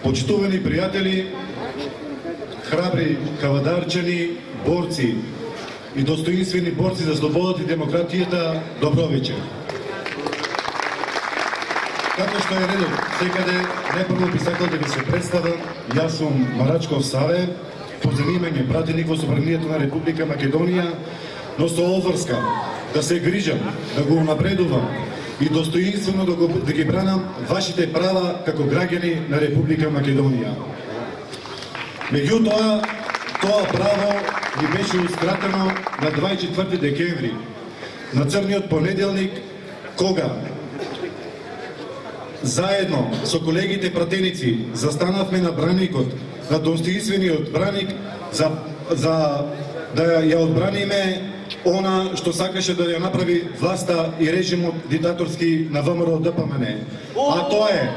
Почитувани пријатели, храбри кавадарчани, борци и достоинствени борци за слободата и демократијата, добро вечер. Како што е редот, секаде најпрво би сакал да ви се представам. Јас сум Марачков Саве, по занимање пратеник во Собранието на Република Македонија, но со обврска да се грижам, да го напредувам и достоинствено да ги бранам вашите права како граѓани на Република Македонија. Меѓутоа, тоа право ни беше ускратено на 24 декември, на црниот понеделник, кога заедно со колегите пратеници застанавме на браникот, на достоинствениот браник, за да ја одбраниме она што сакаше да ја направи власта и режимот диктаторски на ВМРО ДПМН. А тоа е,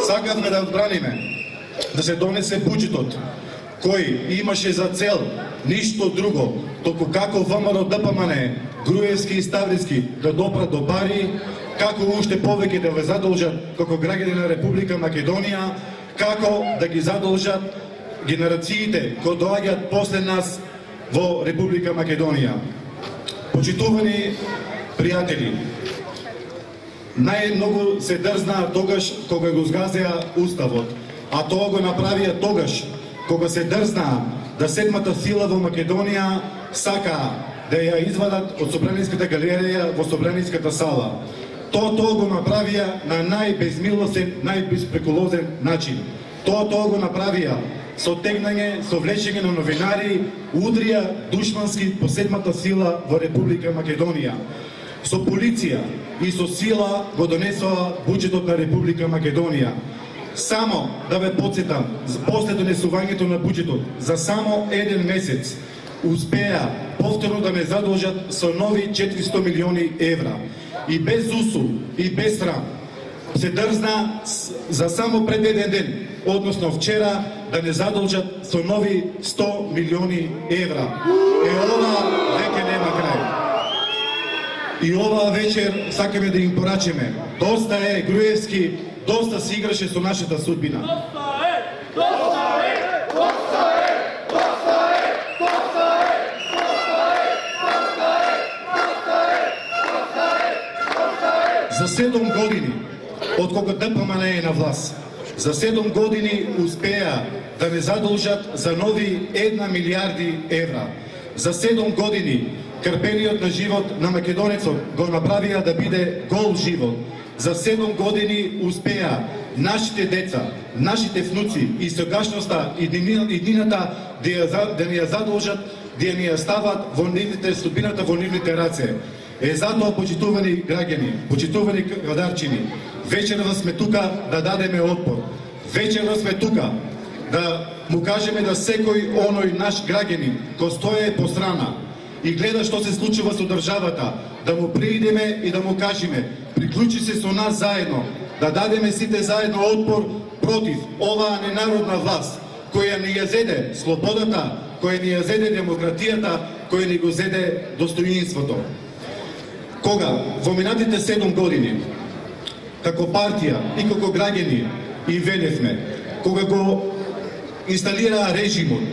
сакавме да одбраниме да се донесе буџетот, кој имаше за цел ништо друго, току како ВМРО ДПМН, Груевски и Ставриски да допрат до пари, како уште повеќе да ве задолжат како граѓани на Република Македонија, како да ги задолжат генерациите кои доаѓаат после нас во Република Македонија. Почитувани пријатели, најмногу се дрзнаа тогаш кога го згазеа уставот, а тоа го направија тогаш кога се дрзнаа да седмата сила во Македонија сакаа да ја извадат од Собраниската галерија во Собраниската сала. Тоа го направија на најбезмилосен, најбеспреколозен начин. Тоа го направија со тегнање, со влечење на новинари, удрија душмански по седмата сила во Република Македонија. Со полиција и со сила го донесоа буџетот на Република Македонија. Само да ве потсетам, после донесувањето на буџетот, за само еден месец успеа повторно да ме задолжат со нови 400 милиони евра. И без усул, и без срам, се дрзна за само пред еден ден, односно вчера, да не задолжат со нови 100 милиони евра. Ова веќе нема крај. И оваа вечер сакаме да им порачеме. Доста е, Груевски, доста си играше со нашата судбина. За 7 години, од кога ДПМН е на власт, за 7 години успеа да не задолжат за нови 1 милиарди евра. За 7 години крпениот на живот на македонецот го направија да биде гол живот. За 7 години успеа нашите деца, нашите внуци и сегашноста и иднината да ни ја задолжат, да ни ја стават во нивните судбината во нивните раце. Затоа, почитувани граѓани, почитувани кавадарчини, вечерва сме тука да дадеме отпор. Вечерва сме тука да му кажеме да секој оној наш граѓанин кој стои по страна и гледа што се случува со државата, да му приидеме и да му кажеме: приклучи се со нас заедно, да дадеме сите заедно отпор против оваа ненародна власт, која ни ја зеде слободата, која ни ја зеде демократијата, која ни го зеде достоинството. Кога во минатите 7 години, како партија и како граѓани им велевме, кога го инсталираа режимот,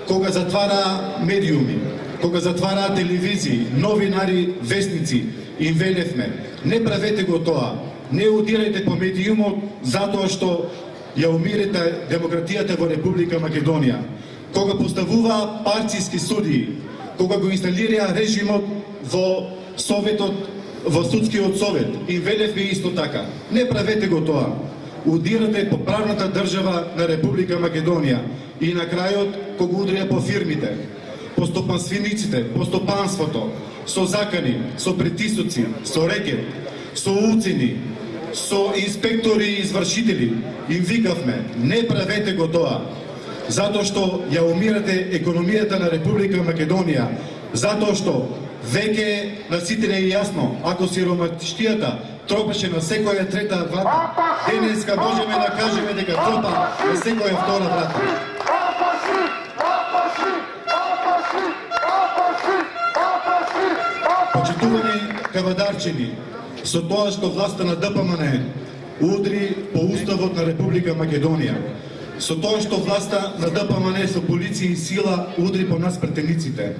кога затвараа медиуми, кога затвараа телевизии, новинари, вестници, им велевме: не правете го тоа, не удирајте по медиумот затоа што ја умирете демократијата во Република Македонија. Кога поставуваа партиски судии, кога го инсталираа режимот во Советот, во Судскиот совет, и велевме исто така: не правете го тоа. Удирате по правната држава на Република Македонија. И на крајот, кога удрија по фирмите, по стопанствениците, по стопанството, со закани, со притисоци, со рекет, со уцени, со инспектори и извршители, им викавме: не правете го тоа. Затоа што ја умирате економијата на Република Македонија, затоа што веќе на сите не е јасно, ако сиромаштијата тропеше на секоја трета врата, денеска можеме да кажеме дека тропа на секоја втора врата. Почитувани кавадарчини, со тоа што власта на ДПМН удри по Уставот на Република Македонија, со тоа што власта на ДПМН со полиција и сила удри по нас претениците,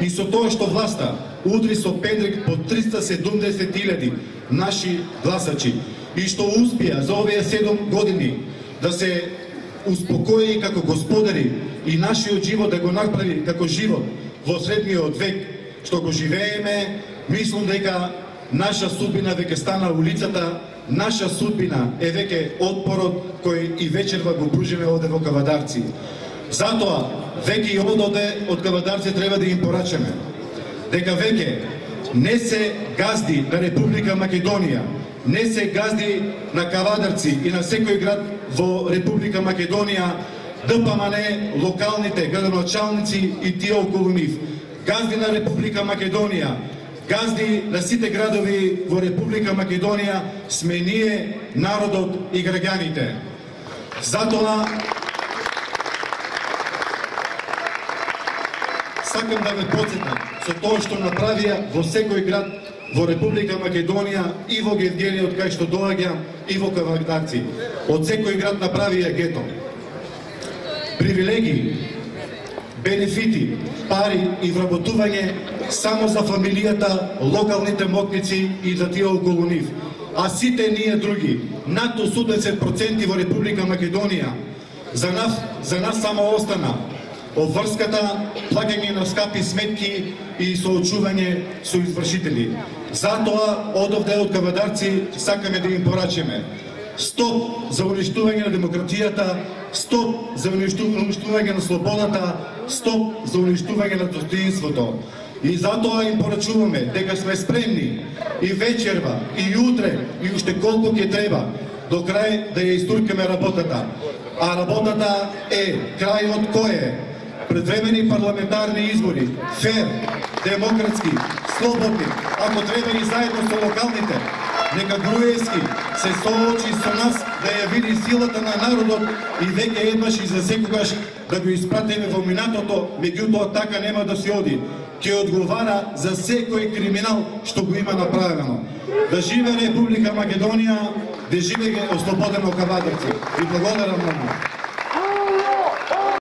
и со тоа што власта удри со педрик по 370.000 наши гласачи, и што успеа за овие 7 години да се успокои како господари и нашиот живот да го направи како живот во средниот век што го живееме, мислам дека наша судбина веќе стана улицата, наша судбина е веќе отпорот кој и вечерва го пружиме овде во Кавадарци. Затоа, веќе и ододе од Кавадарци треба да им порачаме дека веќе не се газди на Република Македонија, не се газди на Кавадарци и на секој град во Република Македонија, ДПМН, локалните градоначалници и тие околу нив. Газди на Република Македонија, газди на сите градови во Република Македонија сме ние, народот и граѓаните. Затоа сакам да ве потсетам со тоа што направија во секој град во Република Македонија и во Гевгелиот кај што доаѓам и во Кавадарци. Од секој град направија гето. Привилегии, бенефити, пари и вработување само за фамилијата, локалните мотници и за тие околу нив. А сите ние други, над 80% во Република Македонија, за нас само остана обврската, плаќање на скапи сметки и соочување со извршители. Затоа, одовде од Кавадарци сакаме да им порачеме. Стоп за уништување на демократијата, стоп за уништување на слободата, стоп за уништување на достоинството. И затоа им порачуваме дека сме спремни и вечерва, и утре, и уште колку ќе треба, до крај да ја истуркаме работата. А работата е крајот кој е? Предвремени парламентарни избори, фер, демократски, слободни, ако треба и заедно со локалните. Нека Груевски се соочи со нас да ја види силата на народот и веќе еднаш и за секогаш да го испратиме во минатото, меѓутоа така нема да се оди. Ќе одговара за секој криминал што го има направено. Да живе Република Македонија, да живее ослободено Кавадарци. И благодарам многу.